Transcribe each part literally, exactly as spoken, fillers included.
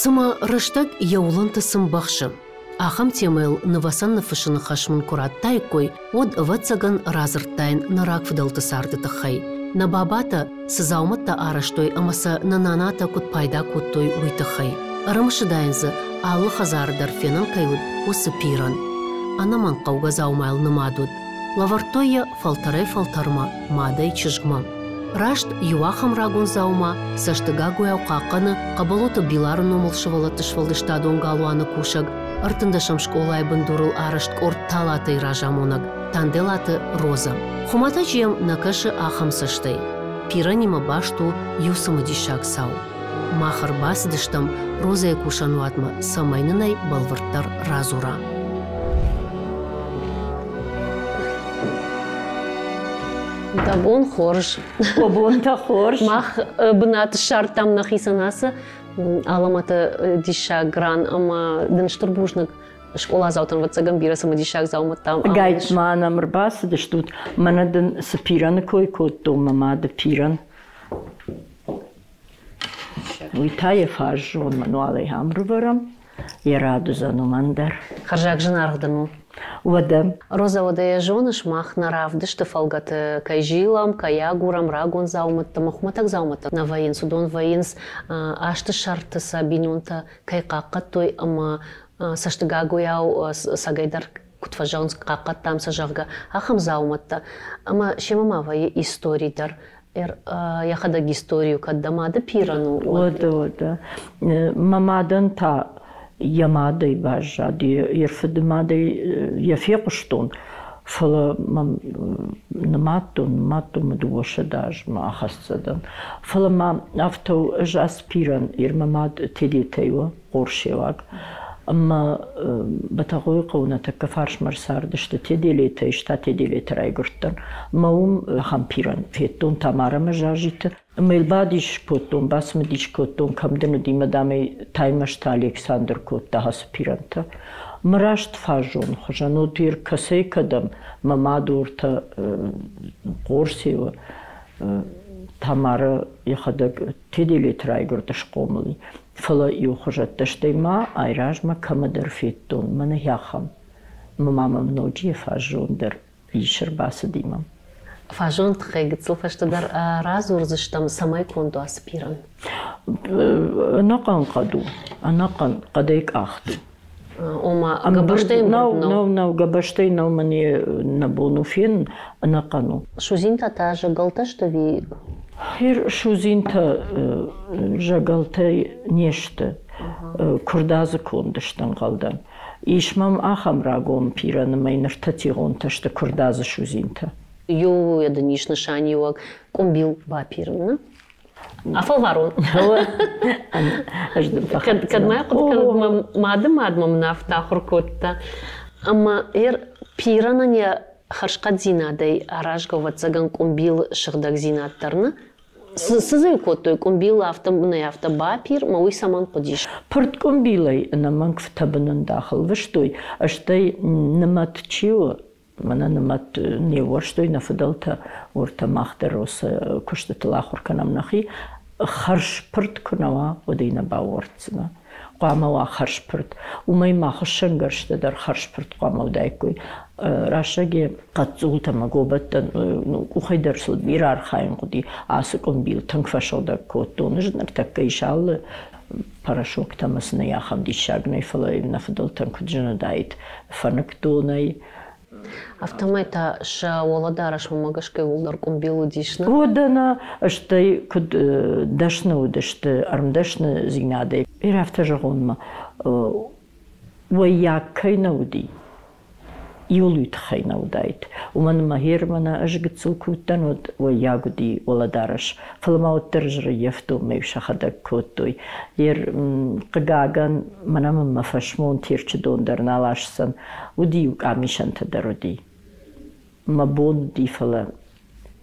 Цыма рӕстӕг йӕ уылӕнты цы мбӕхсы. Ахӕм темӕйыл нывӕцӕн ныффыссыны хӕс мын куы радтаиккой, уӕд, ӕвӕццӕгӕн, радзырдтаин нӕ рагфыдӕлты царды тыххӕй. Нӕ бабатӕ цы дзаумӕттӕ арӕзтой ӕмӕ сӕ нӕ нанатӕ куыд пайда кодтой, уый тыххӕй. Ӕрымысыдаин дзы, алы хӕдзары дӕр фенӕн кӕй уыд, уыцы пирӕн. Ӕнӕмӕнг хъӕугӕ дзаумайыл нымад уыд. Лӕвӕрдтой йӕ фӕлтӕрӕй-фӕлтӕрмӕ, мадӕй чызгмӕ. Раст иу ахӕм рагон дзаума цӕстыгагуыйау хъахъхъӕны Хъӕбӕлоты Билары номыл сывӕллӕтты сфӕлдыстадон галуаны кусӕг, ӕртындӕсӕм скъолайы бындурыл арӕзт къорд Талатӕй разамонӕг Танделаты Розӕ. Хуымӕтӕджы йӕм нӕ кӕсы ахӕм цӕстӕй. Пиранимӕ баст у иу цымыдисаг цау. Мах ӕрбацыдыстӕм Розӕйы кусӕнуатмӕ, цӕмӕй нын ӕй бӕлвырддӕр радзура. Дӕ бон хорз. О бонтӕ хорз. Мах бынат ссардтам нӕхицӕн ацы аламӕты диссаг ран ӕмӕ дын стыр бузныг скъоладзаутӕн ӕвӕццӕгӕн бирӕ цымыдисаг дзаумӕттӕ. Гайт ма нӕм ӕрбацыдыстут, мӕнӕ дын цы пирӕны кой кодтон, мӕ мады пирӕн. Уый та йӕ фаззон мануалӕй ам рывӕрӕм, йӕ рад уыдзӕн уымӕн дӕр. Хӕрзаг зынаргъ дын у. Уӕдӕ. Роза, уӕдӕ йӕ зоныс, мах нӕ равдысты фӕлгӕты кӕй зилӕм, кӕй агурӕм рагон дзаумӕттӕ ӕмӕ хуымӕтӕг дзаумӕттӕ нӕ вӕййынц, уыдон вӕййынц азты сӕрты сӕ бинонтӕ кӕй хъахъхъӕдтой ӕмӕ цӕстыгагуыйау цӕгӕйдӕр куыд фӕзӕгъынц, хъахъхъӕдтам сӕ, зӕгъгӕ, ахӕм дзаумӕттӕ. Ӕмӕ семӕ ма вӕййы истори дӕр. Йӕхӕдӕг истори у, кӕд дӕ мады пирӕн у, уӕд. Уӕдӕ, уӕдӕ. Мӕ мадӕн та йӕ мадӕй баззад, йӕ фыды мадӕй йӕ фехъуыстон, фӕлӕ мӕм нымадтон, нымадтон мӕ дыууӕ сӕдӕ азмӕ ахӕццӕ дӕн. Фӕлӕ ма афтӕ у, ӕз аспиран, ир мӕ мад Тедетӕй у, хъорсеуаг. Ӕмӕ Бӕтӕхъойы хъӕуы нӕ тӕккӕ фарсмӕ ӕрцардысты Теделетӕй, ста Теделеты райгуырдтӕн. Ӕмӕ уым ахӕм пирӕн федтон Тамарӕ ӕмӕ Жажиты. Ӕмӕ йыл бадис кодтон, бацымыдис кодтон, кӕм дын уыди, мӕ дам ӕй Таймӕзты Александр кодта ацы пирӕнтӕ. Мӕ раст фаззон хуызӕн уыд, кӕцӕй кӕдӕм, мӕ мад уыртӕ Хъорсеуы Тамара йӕхӕдӕг Теделеты райгуырд схъомыл и. Фӕлӕ иу хуызӕттӕ, стӕй ма айразмӕ кӕмӕдӕр федтон, мӕнӕ ахӕм. Мӕ ма мӕм ноджы йӕ фаззон дӕр ис ӕрбацыди мӕм. Фаззон тыххӕй гыццыл фӕстӕдӕр радзурдзыстӕм, цӕмӕй конд у ацы пирӕн? Ӕнӕхъӕн хъӕд у, ӕнӕхъӕн хъӕдӕй къахт у. Ома гӕбӕзтӕй нӕу, нӕу, нӕу, гӕбӕзтӕй нӕу, мӕн нӕ бон у фенын, ӕнӕхъӕн у. Судзинтӕ та зӕгӕлтӕ сты ӕви? Судзинтӕ зӕгӕлтӕй не сты, куырдадзы конд сты ӕнхъӕлдӕн. Ис мӕм ахӕм рагон пирӕны мӕй ныртӕ тигъонтӕ сты куырдадзы судзинтӕ. Иу дын ис нысаниуӕг къуымбил бапирын, нӕ? Афӕлварон. Кӕд мӕ хъуыды кӕнын, мӕ мады мад мӕм афтӕ ахуыр кодта. Ӕмӕ ӕр пирӕнӕн йӕ хӕрзхъӕддзинадӕй аразгӕ, ӕвӕццӕгӕн, къуымбилы сыгъдӕгдзинад дӕр нӕ? Цы дзы кодтой къуымбил афтӕ нӕ афтӕ бапир, мӕ уый цӕмӕн хъуыдис? Пырд къуымбилӕй ӕнӕмӕнг тӕбынӕндах ӕлвыстой, стӕй нымӕт чи у, мӕнӕ нымӕт не уӕрстой нӕ фыдӕлтӕ, уӕртӕ мах дӕр уыцы куыстытыл ахуыр кӕнӕм нӕхи. Хӕрзпырд куы нӕ уа, уӕд ӕй нӕ баууӕрддзынӕ. Хъуамӕ уа хӕрзпырд. Уымӕй ма хуыссӕнгӕрзтӕ дӕр хӕрзпырд хъуамӕ уыдаиккой. Рӕстӕги хъӕццултӕ ӕмӕ гобӕттӕн къухӕй дӕр сыл бирӕ архайын хъуыди. Ацы къуымбил тынг фӕсыгъдӕг кодтон. Ӕз ныртӕккӕ ис алы порошоктӕ ӕмӕ сын ӕй ахӕм диссаг нӕй, фӕлӕ нӕ фыдӕлтӕн куыд зын уыдаид фӕныкдонӕй. Афтӕмӕй та сӕ уӕлӕдарӕсмӕ гӕсгӕ иууылдӕр къуымбил уыдис, нӕ? Уӕдӕ нӕ, стӕй куыд дӕсны уыдысты ӕрмдӕсныдзинадӕй. Ир афтӕ зӕгъон ма, уӕййаг кӕй нӕ уыди, иуыл уый тыххӕй нӕ уыдаид. Уымӕн ӕмӕ Германы ӕз гыццыл куы уыдтӕн, уӕд уӕййаг уыди уӕлӕдарӕс. Фӕлӕ ма уӕддӕр ӕз ӕрӕййӕфтон, мӕ сӕхӕдӕг кодтой. Ер, хъыгагӕн, мӕнӕ мын мӕ фӕсмон Терчы дон дӕр нал асдзӕн. Уыди-иу къамисӕнтӕ дӕр уыди. Мӕ бон уыди, фӕлӕ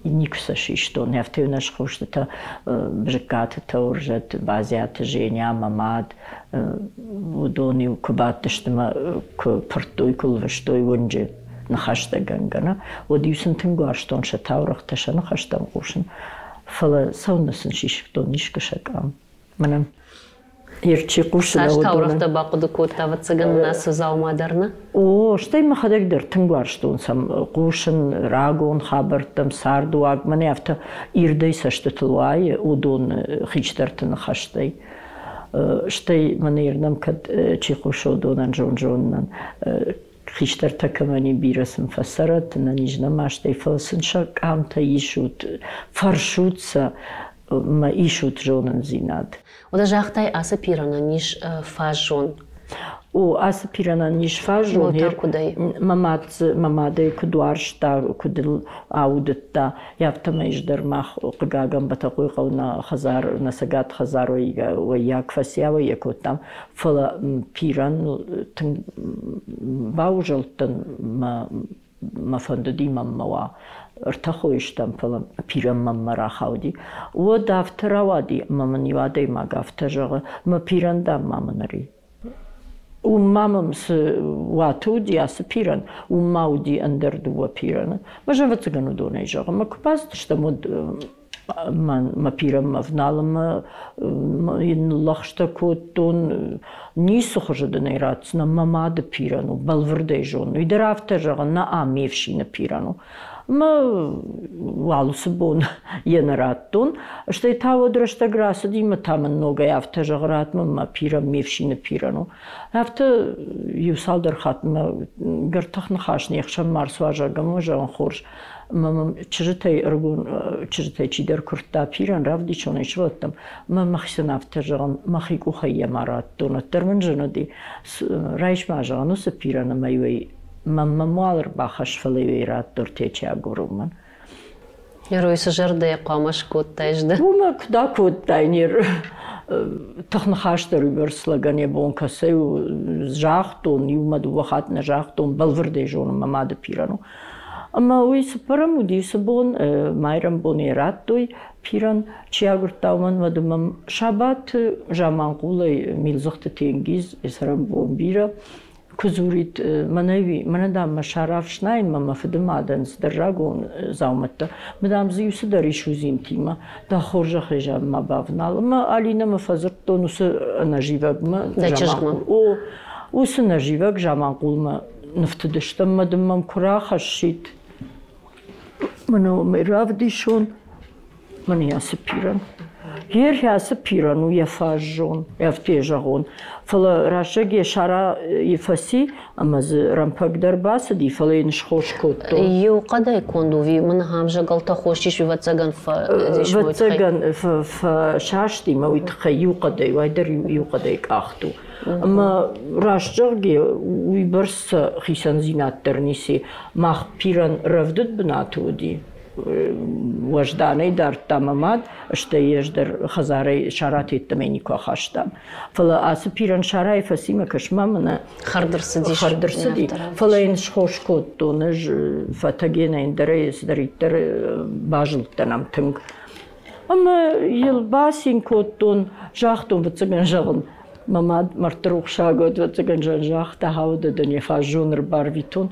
никуы сӕ систон. Афтӕ нӕ схъустытӕ Бзыккаты Тӕуырзӕт, Базиаты Женя, мӕ мад, уыдон-иу куы бадтысты мӕ куы пырдтой, куы лвыстой уынджы ныхӕстӕгӕнгӕ, нӕ, уӕд-иу сын тынг уарзтон сӕ таурӕгътӕ, сӕ ныхӕстӕм хъусын. Фӕлӕ цӕуылнӕ сын систон искуы сӕ къам? Мӕнӕн Чи хъусы Цас таурӕгътӕ бахъуыды кодта, ӕвӕццӕгӕн, ацы дзаума дӕр, нӕ? О, стӕй мӕхӕдӕг дӕр тынг уарзтон сӕм хъусын рагон хабӕрттӕм, цардуаг. Мӕнӕ афтӕ ирдӕй цӕстытыл уайы уыдон хистӕрты ныхӕстӕй. Стӕй мӕнӕ ирдӕм кӕд чи хъусы, уыдонӕн зон-зонынӕн хистӕртӕ кӕмӕн и, бирӕ сын фӕцӕрӕд, ӕнӕниз нӕма стӕй, фӕлӕ сын сӕ къамтӕ исут, фӕрсут сӕ, ма исут зонындзинад. Уӕдӕ загътай, ацы пиранӕн ис фаззон. О, ацы пиранӕн ис фаззон. Куыдӕй? Мӕ мад мӕ мадӕй куыд уарзта, куыд ыл аудыдта, афтӕмӕй дӕр мах, хъыгагӕн, Бӕтӕхъойы нӕ хӕдзар, нӕ цӕгат хӕдзар уӕййаг фӕци, ауӕй кодтам, фӕлӕ пиран тынг баузӕлдтӕн, мӕ мӕ фӕндыди мӕнмӕ уа. Ӕртӕ хойы стӕм, фӕлӕ пиран мӕнмӕ рахауди. Уӕд афтӕ рауади, ӕмӕ мын иу адӕймаг афтӕ зӕгъы, мӕ пиран, дам, ма мын ӕри. Уым ма мӕм цы уаты уыди ацы пиран, уым ма уыди ӕндӕр дыууӕ пираны. Мӕ ӕвӕццӕгӕн уыдонӕй зӕгъы. Мӕ куы бацыдыстӕм, уӕд мӕ пиранмӕ ӕвналынмӕ йын ныллӕгъстӕ кодтон, ницы хуызы дын ӕй ратдзынӕн, мӕ мады пиран у, бӕлвырдӕй зонын. Уый дӕр афтӕ зӕгъы, нӕ, ме фсины пиран у. Мӕ уал уыцы бон йӕ нӕ радтон. Стӕй та уӕд рӕстӕг рацыди, мӕ та мын ногӕй афтӕ зӕгъы, ратт мын мӕ пиран, ме фсины пиран у. Афтӕ иу цалдӕр хатт мӕ гӕртых ныхас не хсӕн ма рцуазӕг ӕмӕ зӕгъын, хорз. Мӕ мӕм чызджытӕй, ӕрыгон чызджытӕй чидӕр куырдта пиран, равдисон ӕй сывӕллӕттӕм. Мӕ мӕхицӕн афтӕ зӕгъын, мӕхи къухӕй йӕ ма радтон, уӕддӕр мын зын уыди. Райс ма, зӕгъын, уыцы пиран ӕмӕ-иу ӕй мӕнмӕ муал ӕрбахӕсс, фӕлӕ-иу ӕй радт ортечи агурынмӕ. Герой цы зӕрдӕйы хъуамӕ скодтаис ды? Уымӕ куыд акодтай, не тыхныхас дӕр уыйбӕрц лӕгӕн йӕ бон кӕцӕй у, загътон, иумӕ дыууӕ хатт нӕ загътон, бӕлвырдӕй зонын, мӕ мады пиран у. Ӕмӕ уый цыппӕрӕм уыди уыцы бон, майрӕмбон йӕ радтой пиран, чи агуырдта, уымӕн, уӕд мӕм сабаты Заманхъулӕй Милдзыхты Тенгиз, йӕ цӕрӕнбон бирӕ, куы дзурид, мӕнӕ, мӕнӕ, дам, мӕ сӕр ӕфснайынмӕ мӕ фыды мадӕн цыдӕр рагон дзаумӕттӕ, мӕ, дам, дзы иу цыдӕр ис судзинтимӕ, дӕ хорзӕхӕй, зӕгъ, ма бавнал. Ӕмӕ Алинӕмӕ фӕдзырдтон уыцы ӕнӕзивӕгмӕ. Дӕ чызгмӕ? О, уыцы нӕзивӕг Заманхъулмӕ ныфтыдыстӕм, мӕ дын мӕм куы рахӕссид. Мӕнӕ уымӕй равдисон, мӕнӕ ацы пиран. Йе ацы пиран у йӕ фаззон, афтӕ зӕгъон. Фӕлӕ рӕстӕг йӕ сара фӕци, ӕмӕ дзы рӕмпӕг дӕр бацыди, фӕлӕ йын схос кодтон. Иу хъӕдӕй конд у, мын ахӕм зӕгӕлтӕ хос ис, ӕвӕццӕгӕн, ӕвӕццӕгӕн фӕсасти мӕ уый тыххӕй иу хъӕдӕй, уӕддӕр иу хъӕдӕй къахт у. Ӕмӕ раст зӕгъгӕ, уыйбӕрц хицӕндзинад дӕр ницы. Мах пиран рӕвдыд бынаты уыди. Уӕзданӕй дардта мӕ мад, стӕй ӕз дӕр хӕдзарӕй саратеттӕмӕ никуы ахастам. Фӕлӕ ацы пиран сарайы фӕци, мӕ кӕсма мӕнӕ хӕрд ӕрцыдис. Хӕрд ӕрцыди. Фӕлӕ йын схос кодтон ӕз фӕтӕгенӕй, ӕндӕрӕй цыдӕриддӕр базылдтӕн ӕм тынг. Ӕмӕ йыл бацин кодтон, загътон, ӕвӕццӕгӕн, зӕгъын, мӕ мад мӕрдты рухсаг уӕд, ӕвӕццӕгӕн, загъта, хауд дын йӕ фаззон ӕрбарвитон.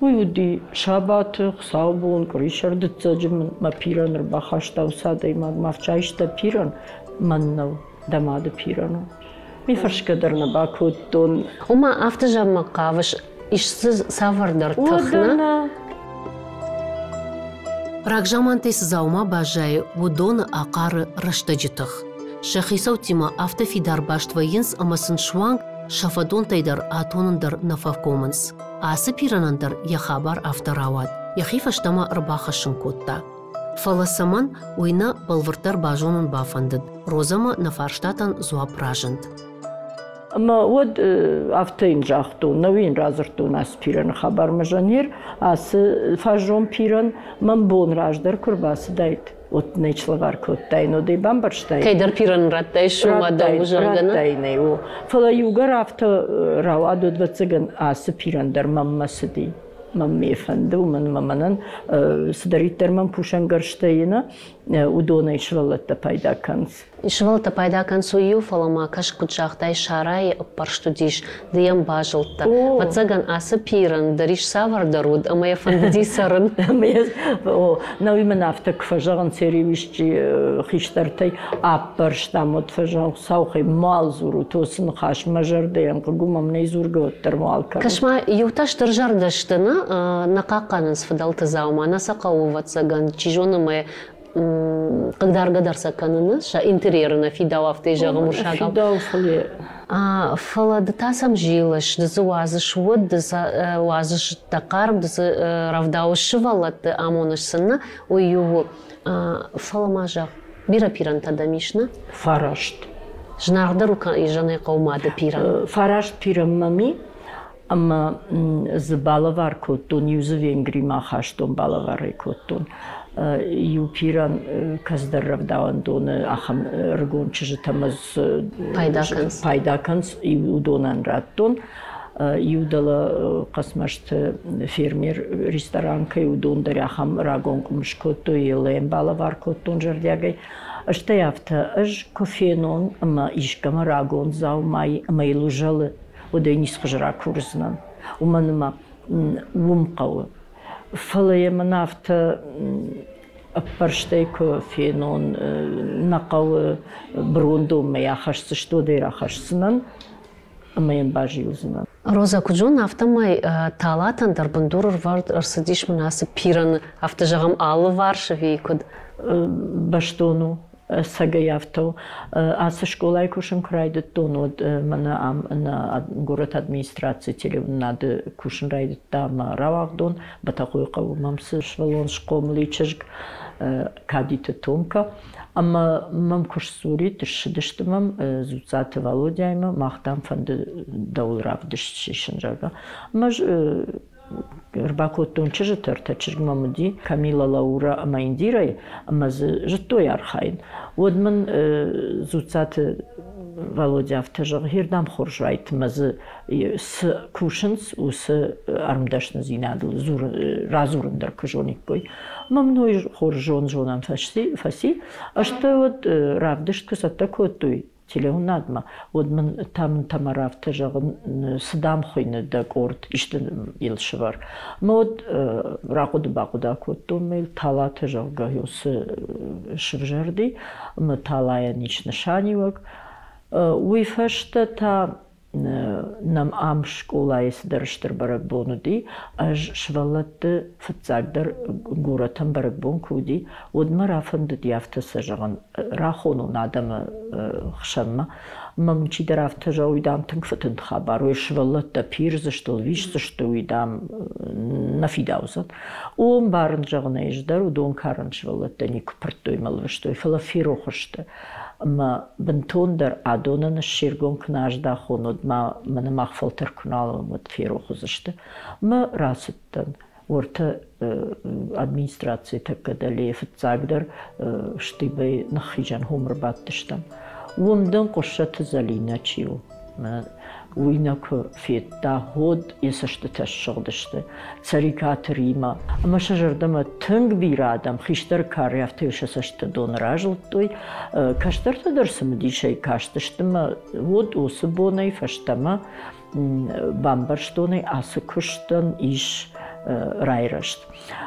Уый уыди сабаты, хуыцаубон, къуырисӕр дыццӕджы мын мӕ пиран ӕрбахаста уыцы адӕймаг. Мӕ ӕфсайста пиран, мӕн нӕу, дӕ мады пиран у. Ми фӕрсгӕ дӕр нӕ бакодтон. Ома афтӕ зӕгъынмӕ хъавыс, ис дзы цавӕрдӕр тых, нӕ? Рагзамантӕй цы дзаума баззайы, уыдоны ахъары рӕстӕджы тых. Сӕ хицӕуттимӕ афтӕ фидар баст вӕййынц ӕмӕ сын суанг сӕ фӕдонтӕй дӕр атонын дӕр нӕ фӕкомынц. Ацы пиранӕн дӕр йӕ хабар афтӕ рауад, йӕхи фӕстӕмӕ ӕрбахӕссын кодта. Фӕлӕ цӕмӕн, уый нӕ бӕлвырддӕр базонын бафӕндыд. Розӕмӕ нӕ фарстатӕн дзуапп разынд. Ӕмӕ уӕд афтӕ йын загътон, нӕ йын радзырдтон ацы пираны хабар мӕ жанер, ацы фаззон пиран мӕм бон раздӕр куы рбацыдаид, уӕд нӕ слӕвар кодтаин, уӕд ӕй бамбӕрстаин. Кӕйдӕр пиран радтай, сумӕ дӕу зӕгъгӕ, Радтаин ӕй, о. Фӕлӕ иугӕр афтӕ рауад, уӕд, ӕвӕццӕгӕн, ацы пиран дӕр мӕнмӕ цыди. Мӕн ме фӕнды, уымӕн ӕмӕ мӕнӕн цыдӕриддӕр мӕм кусӕнгӕрзтӕ и, нӕ, Уыдонӕй сывӕллӕттӕ пайда кӕнынц. Сывӕллӕттӕ пайда кӕнынц уый иу, фӕлӕ ма кӕс, куыд загътай, сарайы ӕппӕрст уыдис, ды йӕм базылдтӕ. Ӕвӕццӕгӕн, ацы пирӕн дӕр ис цавӕрдӕр уыд ӕмӕ йӕ фӕндыди цӕрын. О, науи мын афтӕ куы фӕзӕгъынц, исчи хистӕртӕй ӕппӕрстам, уӕд фӕзӕгъын, Хуыцаухӕй мал дзурут, уыцы ныхас мӕ зӕрдӕйӕн хъыг у, мӕм нӕй дзургӕ уӕддӕр мал кӕнут. Кӕс-ма, иутӕ стыр зӕрдӕ сты, нӕ, нӕ хъахъхъӕнынц фыдӕлты дзаума, нӕ сӕ хъӕуы, ӕвӕццӕгӕн, чи зоны, мӕ хъыгдаргӕ дӕр сӕ кӕныны, сӕ интерьеры нӕ фидауы, афтӕ зӕгъӕм уырыссагау. Фидауы, фӕлӕ Фӕлӕ ды та сӕм зилыс, ды дзы уадзыс уд, ды сӕ уадзыс дӕ хъарм, ды дзы рӕвдауыс сывӕллӕтты, амоныс сын, нӕ, уый иу у. Фӕлӕ ма зӕгъ, бирӕ пирӕнтӕ дӕм ис, нӕ? Фараст. Зынаргъдӕр у изӕнӕй хъӕуы мады пирӕн. Фараст пирӕн мӕм и, ӕмӕ дзы балӕвар кодтон, иу дзы Венгримӕ ахастон, балӕвар ӕй кодтон. Иу пирӕн кӕцыдӕр рӕвдауӕндоны ахӕм ӕрыгон чызджытӕм ӕз пайда кӕнынц. Пайда кӕнынц, уыдонӕн радтон. Иу дӕлӕ Хъӕцмӕзты фермер ресторан кӕй уыдон дӕр ахӕм рагон къуым скодтой, йӕ балӕвар кодтон зӕрдиагӕй. Стӕй афтӕ, ӕз куы фенон ӕмӕ искӕмӕ рагон дзаумайы ӕмӕ йыл узӕлы, уӕд ӕй ницы хуызы ракурдзынӕн. Уымӕн ӕмӕ уым хъӕуы. Фӕлӕ йӕ мӕн афтӕ ӕппӕрстӕй куы фенон, нӕ хъӕуы брондонмӕ йӕ ахӕсдзысты, уӕд ӕй рахӕсдзынӕн ӕмӕ йӕм базилдзынӕн. Роза, куыд зонын, афтӕмӕй талатӕн дӕр бындур ӕрвӕрд ӕрцыдис мын ацы пирӕны, афтӕ зӕгъӕм, алыварс ӕви куыд? Бӕстон у, ӕцӕгӕй афтӕ у. Ацы скъолайы кусын куы райдыдтон, уӕд мӕнӕ ам нӕ горӕты администрацийы телеуынынады кусын райдыдта мӕ рауагъдон, Бӕтӕхъойы хъӕуы мӕм цы сывӕллон схъомыл и чызг Кадиты Томка. Ӕмӕ мӕм куы сдзурид, ссыдысты мӕм Дзуццаты Валодяимӕ, мах, дам, фӕнды дӕуыл равдыст сисын, зӕгъгӕ. Ӕмӕ ӕрбакодтон чызджыты, ӕртӕ чызг мӕм уыди, Камила, Лаура ӕмӕ Индирӕйы, ӕмӕ дзы зыдтой архайын. Уӕд мын Дзуццаты Валодя афтӕ зӕгъы, хирдӕм хорз уайт, ӕмӕ дзы цы кусынц, уыцы ӕрмдӕсныдзинадыл радзурын дӕр куы зониккой. Ӕмӕ мын уый хорз зон-зонӕн фӕци. Стӕй уӕд равдыст куы цӕттӕ кодтой телеуынадмӕ, уӕд мын та мын Тамар афтӕ зӕгъын, цы дам хуыйны дӕ къорд, исты йыл сывӕр. Ӕмӕ уӕд рахъуыды-бахъуыды кодтон мӕ йыл талатӕ, зӕгъгӕ, цы сывзӕрди, ӕмӕ талайӕн ис нысаниуӕг. Уый фӕстӕ та нӕм ам скъолайы цыдӕр стыр бӕрӕгбон уыди. Ӕз сывӕллӕтты фыццагдӕр горӕтӕн бӕрӕгбон куы уыди, уӕд мӕ рафӕндыди афтӕ сӕ зӕгъын, рахонон адӕмы хсӕнмӕ. Мӕм чидӕр афтӕ зӕгъы, уый, дам, тынг фыдынд хабар, уый сывӕллӕттӕ пирдзысты, лвисдзысты, уый, дам, нӕ фидаудзӕн. О, ӕмбарын, зӕгъын ӕз дӕр, уыдон карӕн сывӕллӕттӕ никуы пырдтой мӕ лвыстой, фӕлӕ ферох сты. Ӕмӕ бынтондӕр адонӕн се ргом куы нӕ аздӕхон, уӕд ма мӕнӕ мах фӕлтӕр куы нал уӕм, уӕд ферох уыдзысты. Мӕ рацыдтӕн уӕртӕ администрацийы тӕккӕ дӕлейы фыццагдӕр штыбӕй ныххизӕн хом ӕрбадтыстӕм. Уым дын Хъуыссӕты Зӕлинӕ чи у, уый нӕ куы федта, уӕд йӕ цӕстытӕ ссыгъдысты. Цӕрикъаты Римӕ. Ӕмӕ сӕ зӕрдӕмӕ тынг бирӕ адӕм хистӕр кары афтӕ сӕ цӕстыты дон разылдтой. Кӕстӕртӕ дӕр цымыдисӕй кастысты ӕмӕ уӕд уыцы бонӕй фӕстӕмӕ бамбӕрстон ӕй, ацы куыстӕн ис райрӕзт.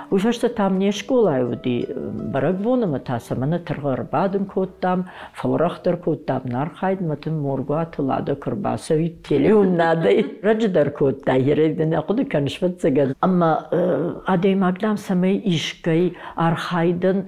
Уый фӕстӕ там не скъолайы уыди бӕрӕгбон ӕмӕ та сӕ мӕнӕ тыргъы ӕрбадын кодтам, фӕуӕрӕхдӕр кодтам нӕ архайдмӕ, тын Моргуаты Лада куы ӕрбацӕуид телеуыннадӕй. Раджы дӕр кодта, нӕ хъуыды кӕныс, ӕвӕццӕгӕн. Ӕмӕ адӕймаг, дам, цӕмӕй искӕй архайдӕн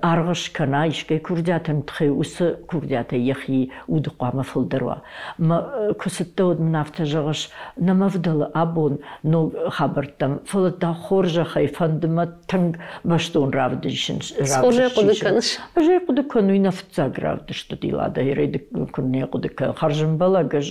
аргъ скӕна, искӕй курдиатӕн тыххӕй уыцы курдиатӕй йӕхи уды хъуамӕ фылдӕр уа. Мӕ куы цыдтӕ, уӕд мын афтӕ зӕгъыс, нӕ мӕ вдӕлы абон ног хабӕрттӕм, фӕлӕ дӕ хорзӕхӕй фӕнды мӕ тынг бӕстон равдисын. Хорзӕй хъуыды кӕныс? Ӕз ӕй хъуыды кӕнын, уый нӕ фыццаг равдыст уыди Лада, куы нӕ хъуыды кӕнын. Хӕрзӕмбӕлӕг ӕз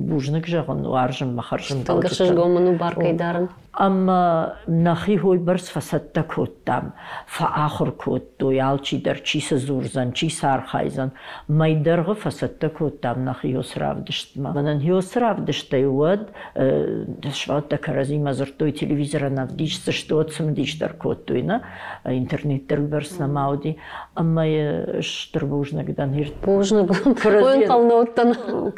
бузныг зӕгъын, уарзын мӕ хӕрзӕмбӕлджытӕн. Тынг ӕхсызгон мын у бар кӕй дарын. Ӕмӕ нӕхи хойбӕрц фӕцӕттӕ кодтам, фӕахуыр кодтой алчидӕр, чи цы дзурдзӕн, чи цы архайдзӕн. Мӕй дӕргъы фӕцӕттӕ кодтам нӕхи уыцы равдыстмӕ. Мӕнӕн уыцы равдыстӕй уӕд сывӕллӕттӕ кӕрӕдзимӕ дзырдтой, телевизорӕн ӕвдисдзысты, уӕд цымыдисдӕр кодтой, нӕ интернет дӕр уыйбӕрц нӕма уыди. Ӕмӕ стыр бузныг дӕн. Бузныг. Ӕнхъӕл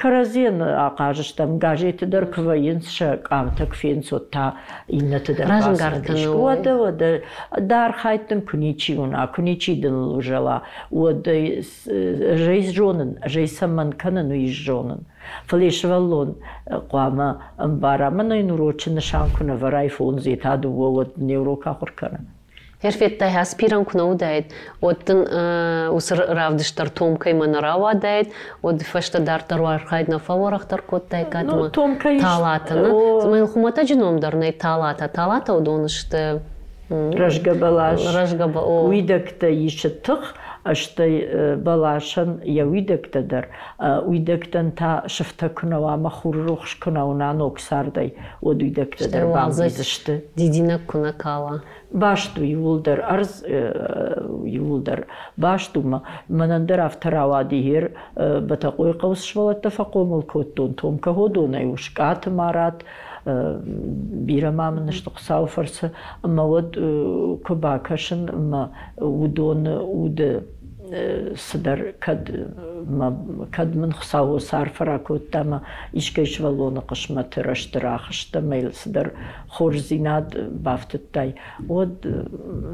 Кӕрӕдзийӕн ахъаз стӕм. Газеты дӕр куы вӕййынц, сӕ къамтӕ куы фенынц, уӕд та иннӕты дӕр разӕнгард кӕны. Уӕдӕ, уӕдӕ, дӕ архайд дын куы ничи уына, куы ничи дын узӕла, уӕд ӕз зонын, ӕз ӕй цӕмӕн кӕнын, уый зонын. Фӕлӕ сывӕллон хъуамӕ ӕмбара, мӕнӕ йын урочы нысан куы нӕ вӕрай фондз йе та дыууӕ, уӕд не урок ахуыр кӕны. Федтай, аспиран куы нӕ уыдаид, уӕд дын уыцы равдыст дӕр Томкӕимӕ нӕ рауадаид, уӕд фӕстӕ дарддӕр архайд нӕ фӕуӕрӕхдӕр кодтаиккат ӕмӕ Талатӕ. Цыма йыл хуымӕтӕджы ном дӕр нӕй Талатӕ. Талатӕ уыдон сты рӕзгӕ бӕлас, уидӕгтӕ исы тых, стӕй бӕласӕн йӕ уидӕгтӕ дӕр. Уидӕгтӕн та сыфтӕ куы нӕ уа ӕмӕ хуры рухс куы нӕ уына ног цардӕй, уӕд уидӕгтӕ дӕр бамбийдзысты. Дидинӕг куы нӕ кала. Баст у иууылдӕр, ӕрдз иууылдӕр баст у. Мӕнӕн дӕр афтӕ рауади гъер Бӕтӕхъойы хъӕуы цы сывӕллӕттӕ фӕхъомыл кодтон, Томкӕ Ходонӕй у, Скъаты Марат, бирӕ ма мын сты Хуыцауы фӕрцы, ӕмӕ уӕд куы бакӕсын ӕмӕ уыдоны уды цыдӕр кӕд кӕд мын Хуыцау арфӕ ракодта ӕмӕ искӕй сывӕллоны хъысмӕты рӕзты рахызт ӕмӕ йыл цыдӕр хорздзинад бафтыдтай, уӕд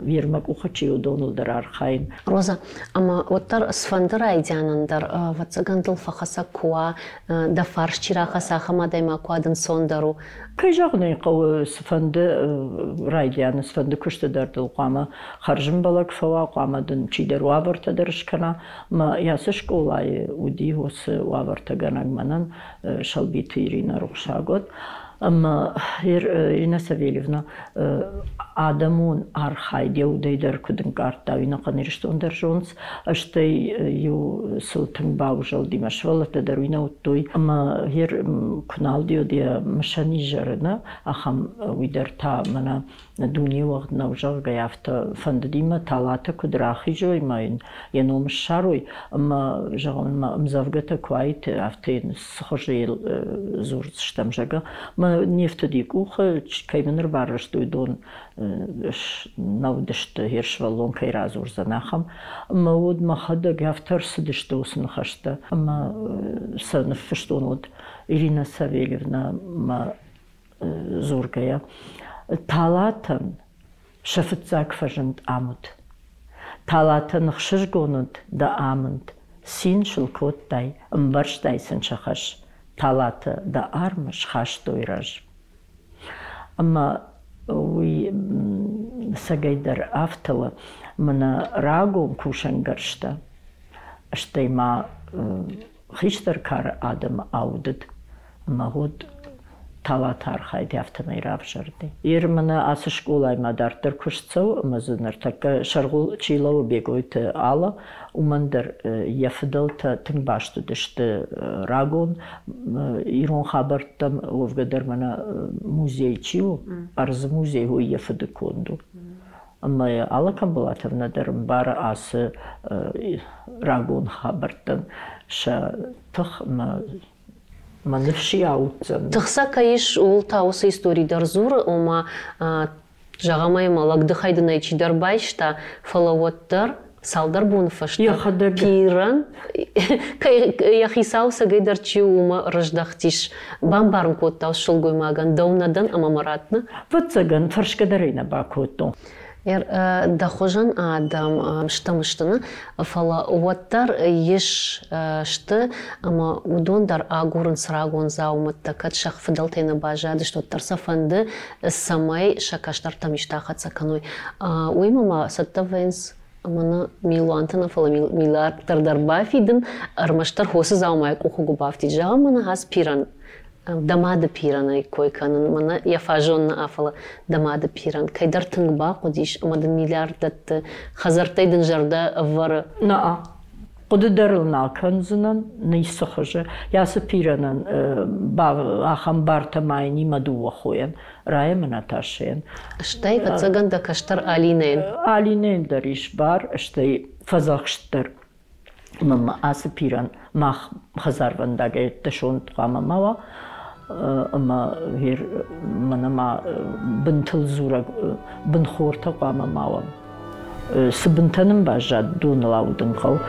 йе мӕ къухы чи уыдоныл дӕр архайын. Роза, ӕмӕ уӕддӕр цыфӕнды райдианӕн дӕр, ӕвӕццӕгӕн дыл фӕхӕцӕг куы уа, дӕ фарс чи рахӕца, ахӕм адӕймаг куы уа, ӕнцондӕр у. Кӕй зӕгъын ӕй хъӕуы, цыфӕнды райдианы, цыфӕнды куысты дӕр дыл хъуамӕ хӕрзӕмбӕлӕг фӕуа, хъуамӕ дын чидӕр уавӕртӕ дӕр скӕна. Мӕ ацы скъолайы уыди уыцы уавӕртӕгӕнӕг мӕнӕн Сӕлбиты Иринӕ, рухсаг уӕд. Ӕмӕ Ирина Савельевна адӕмон архайд йӕ удӕй дӕр куыд ӕнкъардта, уый ӕнӕхъӕн Ирыстон дӕр зонынц. Стӕй иу сыл тынг баузӕлди, мӕ сывӕллӕттӕ дӕр уый нӕ уыдтой. Ӕмӕ гъер куы нал уыд йӕ мысӕн изӕры, нӕ, ахӕм уый дӕр та мӕнӕ дуне уӕгъд нӕу, зӕгъгӕ, афтӕ фӕндыди мӕ Талатӕ куыд рахизой ӕмӕ йын йӕ ном ссарой. Ӕмӕ, зӕгъын, мӕ ӕмдзӕвгӕтӕ куы уаид, афтӕ йын цы хуызы йыл дзурдзыстӕм, зӕгъгӕ. Мӕ не фтыди къухы, кӕй мын ӕрбарвыстой, уыдон нӕ уыдысты, йе сывӕллон кӕй радзурдзӕн, ахӕм. Ӕмӕ уӕд мӕхӕдӕг афтӕ ӕрцыдысты уыцы ныхӕстӕ. Ӕмӕ сӕ ныффыстон уӕд Ирина Савельевна мӕ дзургӕйӕ. Талатӕн сӕ фыццаг фӕзынд ам уыд. Талатӕн ӕхсызгон уыд дӕ амынд, цин сыл кодтай, ӕмбӕрстай сын сӕ хӕс. Талатӕ дӕ армы схастой рӕз. Ӕмӕ уый цӕгӕйдӕр афтӕ у, мӕнӕ рагон кусӕнгӕрзтӕ, стӕй ма хистӕр кары адӕмы аудыд ӕмӕ уӕд Талаты архайд афтӕмӕй равзӕрди. Ир мӕнӕ ацы скъолаймӕ дарддӕр куыст цӕуы ӕмӕ дзы ныртӕккӕ сӕргъуыл чи лӕууы Бегойты Алла, уымӕн дӕр йӕ фыдӕлтӕ тынг баст уыдысты рагон ирон хабӕрттӕм, уӕвгӕ дӕр мӕнӕ музей чи у, ӕрдзы музей, уый йӕ фыды конд у. Ӕмӕ Алла Камбулатовна дӕр ӕмбары ацы рагон хабӕрттӕн сӕ тых ӕмӕ мӕ ныфс ауддзӕн. Тых сӕ кӕй ис, ууыл та уыцы истори дӕр дзуры, ома зӕгъӕм ӕй ӕмӕ лӕгдыхӕй дын ӕй чидӕр байста, фӕлӕ уӕддӕр цалдӕр боны фӕстӕ йӕхӕдӕг пирӕн йӕ хицау цӕгӕйдӕр чи у, уымӕ рыздӕхтис. Бамбарын кодта сылгоймагӕн, дӕу нӕ дӕн ӕмӕ мӕ ратт, нӕ? Ӕвӕццӕгӕн, фӕрсгӕ дӕр ӕй нӕ бакодтон. Дӕ хуызӕн адӕм стӕм сты, нӕ, фӕлӕ уӕддӕр ис сты ӕмӕ уыдон дӕр агурынц рагон дзаумӕттӕ, кӕд сӕ фыдӕлтӕй нӕ баззадысты, уӕддӕр сӕ фӕнды, цӕмӕй сӕ кӕстӕртӕм исты ахӕццӕ кӕной. Уыимӕ ма цӕттӕ вӕййынц ӕмӕ нӕ милуантӕ нӕ, фӕлӕ миллиардтӕ дӕр бафидын, ӕрмӕстдӕр хосы дзаумайы къухы куы бафтид. Зӕгъӕм, мӕнӕ ацы пирӕн, дӕ мады пирӕнӕй кой кӕнын, мӕнӕ йӕ фаззон нӕ, фӕлӕ дӕ мады пирӕн кӕйдӕр тынг бахъуыдис ӕмӕ дын миллиард дӕтты, хӕдзӕрттӕй дын зӕрдӕ ӕвӕры. Наа. Хъуыды дӕр ыл нал кӕндзынӕн, ницы хуызы. Йацы пирӕнӕн ахӕм бартӕ ма йын и мӕ дыууӕ хойӕн, Рая ӕмӕ Наташӕйӕн. Стӕй, ӕвӕццӕгӕн, дӕ кӕстӕр Алинӕйӕн. Алинӕйӕн дӕр ис бар, стӕй фӕдзӕхст дӕр. Ӕмӕ ацы пирӕн мах хӕдзарвӕндагӕй ӕддӕсонд хъуамӕ ма уа, ӕмӕ мӕнӕ ма бынтыл дзурӕг бынхортӕ хъуамӕ ма уӕм. Цы бынтӕ нын баззад, доныл аудын хъӕуы.